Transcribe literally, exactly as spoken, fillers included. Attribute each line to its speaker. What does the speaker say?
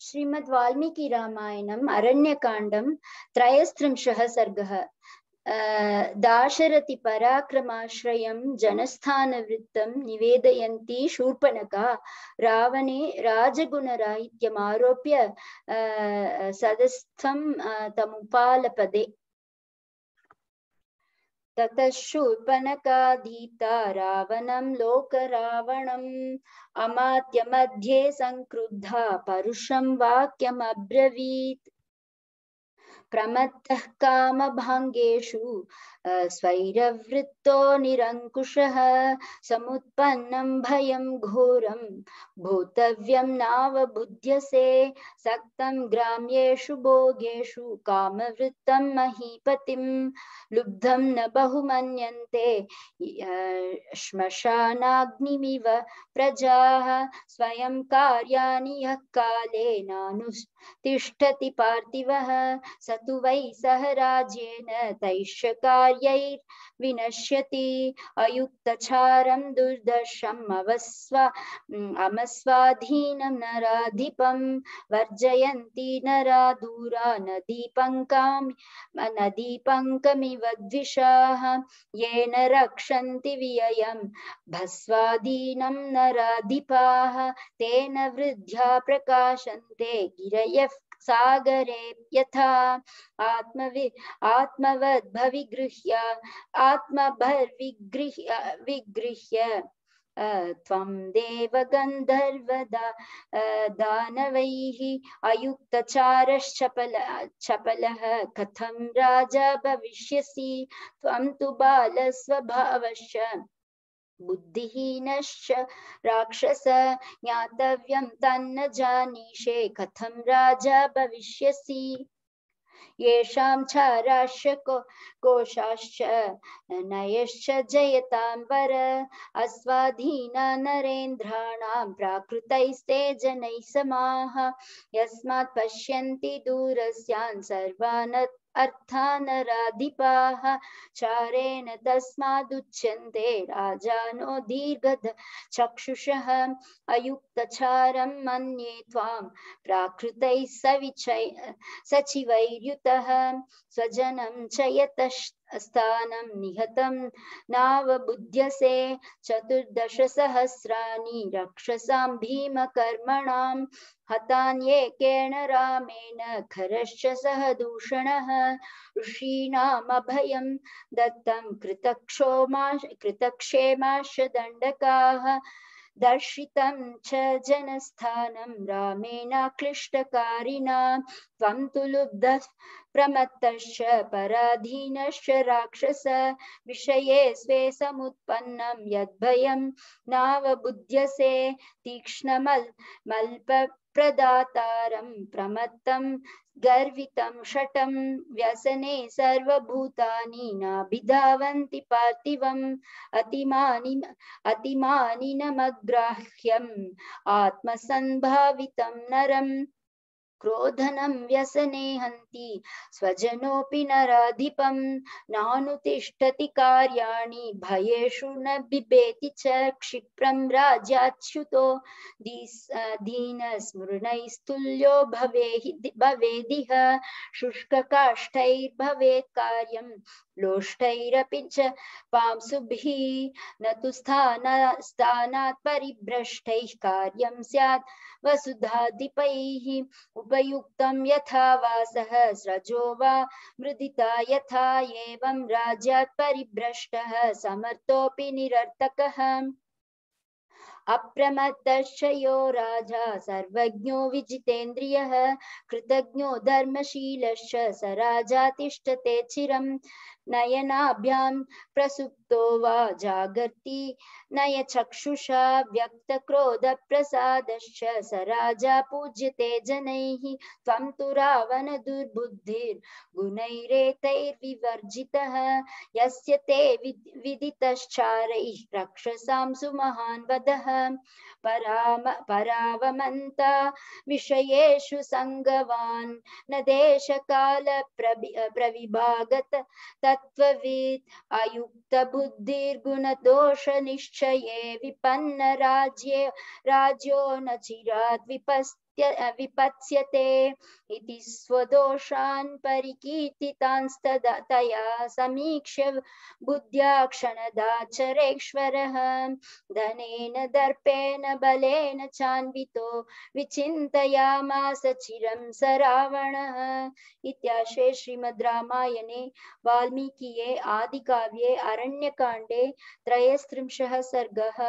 Speaker 1: श्रीमद् वाल्मीकि रामायणम् अरण्यकाण्डं त्रयस्त्रिंशः सर्गः। दाशरथि पराक्रमाश्रयं जनस्थानवृत्तं निवेदयन्ती शूर्पणखा रावणे राजगुणराहित्यमारोप्य सदस्थं तमुपालपदे। ततः शूर्पणखाधीता रावणं लोकरावणम् अमात्य मध्ये संक्रुद्धा परुषं वाक्यमब्रवीत्। प्रमत्तः कामभाङ्गेषु स्वैरवृत्तो निरङ्कुशः समुत्पन्नं भयं घोरं भूतव्यं नावबुध्यसे सक्तं ग्राम्येषु भोगेषु कामवृत्तं महीपतिं लुब्धं न बहुमन्यन्ते श्मशानाग्निमिव प्रजाः स्वयं कार्याणि यः काले नानुतिष्ठति पार्थिवः स तु वै सह राज्येन तैश्च कार्यैर्विनश्यति अयुक्तचारं दुर्दर्शम् अवस्वा अमस्वाधीनं नराधिपं वर्जयन्ति नरा दूरा नदीपङ्कां नदीपङ्कमिव द्विषाः येन रक्षन्ति व्ययं भस्वाधीनं नराधिपाः तेन वृद्ध्या प्रकाशन्ते गिरयः सागरे यथा आत्मवि आत्मवद्भविगृह्य आत्मभर्विगृह्य विगृह्य त्वं देवगन्धर्वदा दानवैः अयुक्तचारश्चपल चपलः कथं राजा भविष्यसि त्वं तु बालस्वभावश्च बुद्धिहीनश्च राक्षस ज्ञातव्यं तन्न जानीषे कथं राजा भविष्यसि येषां चाराश्च कोशाश्च नयश्च जयतां वर अस्वाधीना नरेन्द्राणां प्राकृतैस्ते जनैः समाः यस्मात् पश्यन्ति दूरस्यान् सर्वान् अर्थानराधिपाः चारेण तस्मादुच्यन्ते राजानो दीर्घद चक्षुषः अयुक्तचारं मन्ये त्वां प्राकृतैः सविचय सचिवैर्युतः स्वजनं च यतस्थानं निहतं नावबुध्यसे चतुर्दशसहस्राणि रक्षसां भीमकर्मणां हतान्येकेन रामेण खरश्च सह दूषणः ऋषीणामभयं दत्तं कृतक्षोमा कृतक्षेमाश्च दण्डकाः दर्शितं च जनस्थानं रामेण क्लिष्टकारिणा त्वं तु लुब्धः प्रमत्तश्च पराधीनश्च राक्षस विषये स्वे समुत्पन्नं यद्भयं नावबुध्यसे तीक्ष्णमल् मल्पप्रदातारं प्रमत्तं गर्वितं शटं व्यसने सर्वभूतानि नाभिधावन्ति पार्थिवम् अतिमानि अतिमानिनमग्राह्यम् आत्मसंभावितं नरम् क्रोधनं व्यसने हन्ति स्वजनोऽपि नराधिपं नानुतिष्ठति कार्याणि भयेषु न बिभेति च क्षिप्रं राज्याच्युतो दीनस्मृणैस्तुल्यो भवेदिह शुष्ककाष्ठैर्भवेत् कार्यं लोष्टैरपि च पांसुभिः न तु स्थान स्थानात् परिभ्रष्टैः कार्यं स्यात् वसुधाधिपैः उपयुक्तं यथा वासः स्रजो वा मृदिता यथा एवं राज्यात् परिभ्रष्टः समर्थोऽपि निरर्थकः अप्रमत्तश्च यो राजा सर्वज्ञो विजितेन्द्रियः कृतज्ञो धर्मशीलश्च स राजा तिष्ठते चिरं नयनाभ्यां प्रसुप्तो वा जागर्ति नयचक्षुषा व्यक्तक्रोधप्रसादश्च स राजा पूज्यते जनैः त्वं तु रावण दुर्बुद्धिर्गुणैरेतैर्विवर्जितः यस्य ते विदितश्चारैः रक्षसां सुमहान् वदः पराम परावमन्ता विषयेषु संगवान् न देशकाल प्रविभागत तत्त्ववित् अयुक्तबुद्धिर्गुणदोषनिश्चये विपन्न राज्ये राज्यो न चिरात् विपस् विपत्य विपत्स्यते इति स्वदोषान् परिकीर्तितांस्तदा तया समीक्ष्य बुद्ध्या क्षणदाचरेश्वरः धनेन दर्पेण बलेन चान्वितो विचिन्तयामास चिरं स रावणः। इत्याशे श्रीमद् रामायणे वाल्मीकिये आदिकाव्ये अरण्यकाण्डे त्रयस्त्रिंशः सर्गः।